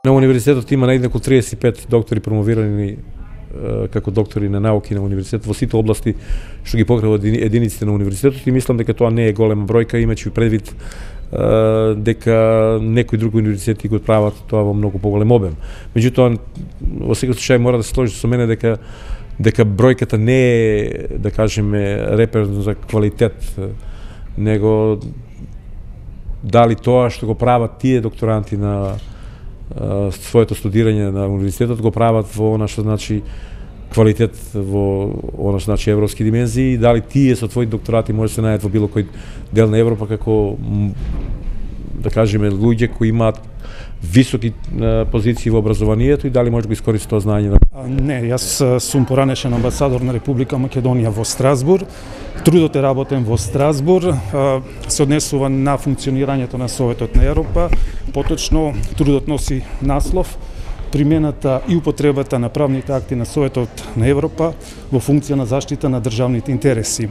На универзитетот има најднеко 35 доктори промовирани како доктори на науки на универзитет во сите области што ги покрива единиците на универзитетот, и мислам дека тоа не е голема бројка, имајќи предвид дека некои други универзитети го прават тоа во многу поголем обем. Меѓутоа, во секој случај мора да се сложи со мене дека бројката не е, да кажеме, репер за квалитет, него дали тоа што го прават тие докторанти на своето студирање на универзитетот го прават во она што значи квалитет, во она што значи европски димензии, и дали тие со твои докторати може да се најдат во било кој дел на Европа како, да кажеме, луѓе кои имаат високи позиции во образованието, и дали може да го искористи тоа знаење. Не, јас сум поранешен амбасадор на Република Македонија во Страсбур. Трудот е работен во Страсбур, се однесува на функционирањето на Советот на Европа. Поточно, трудот носи наслов примената и употребата на правните акти на Советот на Европа во функција на заштита на државните интереси.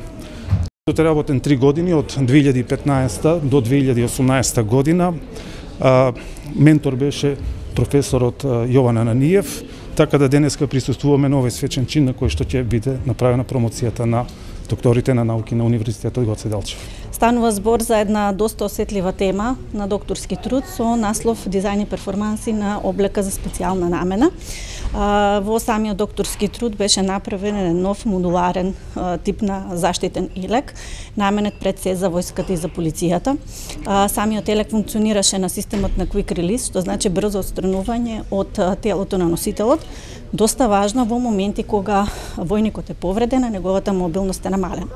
Трудот е работен 3 години, од 2015 до 2018 година. Ментор беше професорот Јован Ананиев, така да денеска присуствуваме на овој свечен чин на кој што ќе биде направена промоцијата на докторите на науки на Универзитетот Гоце Делчев. Станува збор за една доста осетлива тема на докторски труд со наслов Дизајн и перформанси на облека за специјална намена. Во самиот докторски труд беше направен еден нов модуларен тип на заштитен илек, наменет пред се за војската и за полицијата. Самиот елек функционираше на системот на Quick Release, што значи брзо отстранување од телото на носителот, доста важно во моменти кога војникот е повреден, а неговата мобилност е намалена.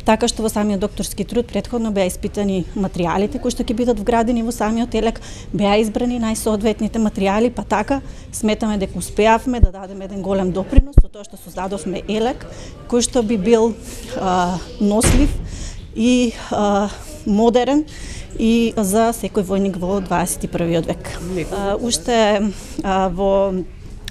Така што во самиот докторски труд претходно беа испитани материјалите кои што ќе бидат вградени во самиот елек, беа избрани најсоодветните материјали, па така сметаме дека успеавме да дадеме еден голем допринос со тоа што создадовме елек кој што би бил нослив и модерен и за секој војник во 21. век. Уште во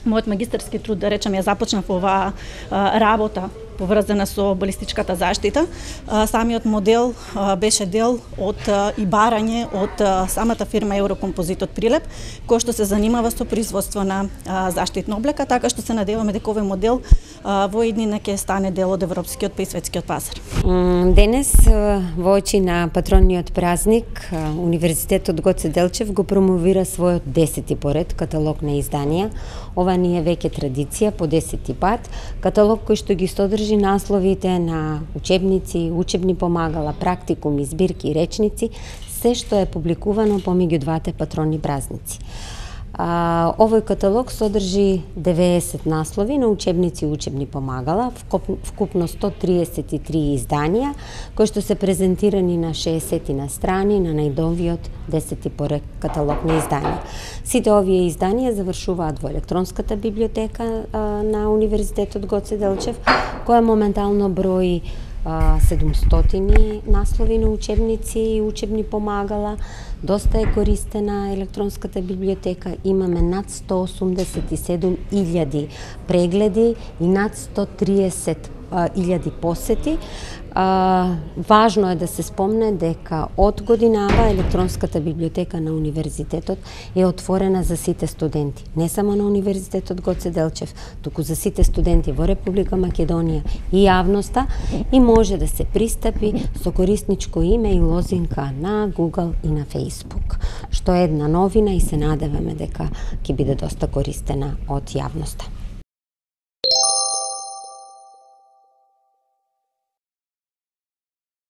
мојот магистарски труд, да речем, ја започнав оваа работа поврзана со балистичката заштита. Самиот модел беше дел од и барање од самата фирма Еврокомпозит од Прилеп, кој што се занимава со производство на заштитна облека, така што се надеваме дека овој модел во иднина ќе стане дел од европскиот па и светскиот пазар. Денес во очи на патронниот празник, Универзитетот Гоце Делчев го промовира својот 10-ти поред каталог на изданија. Ова ни е веќе традиција по 10-ти пат, каталог кој што ги содржи насловите на учебници, учебни помагала, практикуми, збирки и речници, се што е публикувано помеѓу двата патронни празници. Овој каталог содржи 90 наслови на учебници и учебни помагала, вкупно 133 изданија, кои што се презентирани на 60 на страни на најновиот 10-ти поред каталог на изданија. Сите овие изданија завршуваат во електронската библиотека на Универзитетот Гоце Делчев, која моментално брои 700 наслови на учебници и учебни помагала. Доста е користена електронската библиотека, имаме над 187.000 прегледи и над 130.000 посети. Важно е да се спомне дека од годинава електронската библиотека на универзитетот е отворена за сите студенти, не само на Универзитетот Гоце Делчев, туку за сите студенти во Република Македонија и јавноста, и може да се пристапи со корисничко име и лозинка на Google и на Facebook, што е една новина и се надеваме дека ќе биде доста користена од јавноста.